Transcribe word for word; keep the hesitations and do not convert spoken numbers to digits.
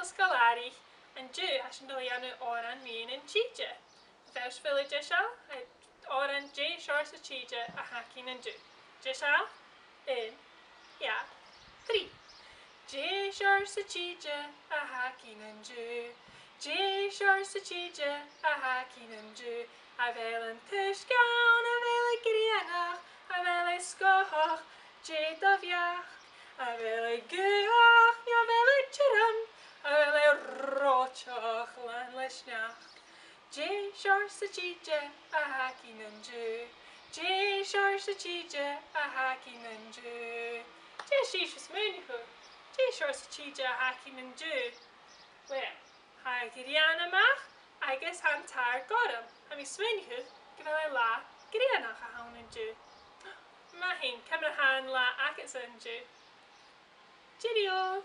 scoil Airidh, an diu tha sinn dol a dhéanamh Òran Mhian an tSíde. Bheul de seo, Òran Dè Seòrsa Tìde a Thaicín an Dubh. De seo, aon, dha, trí. Dè Seòrsa Tìde a Thaicín an Dubh. Dè Seòrsa Tìde a Thaicín an Dubh. A bheil an t-uisce ann, a bheil e grianach, a bheil e sgothach, Dè do bheach. A bheil e guach, a bheil e tirim, a bheil e reoiteach lán le sneachd. Dè Seòrsa Tìde a Thaicín an Dubh. Dè Seòrsa Tìde a Thaicín an Dubh. Dè sí smuinchu. Dè Seòrsa Tìde a Thaicín an Dubh. Well, tha a ghrian amach agus tha an tàr gorm. Tha mi smaoineachadh gu bheil e là grianach a tha ann an diu. Maith thìn, cumar tha an lá agatsa an diu. Cheerio!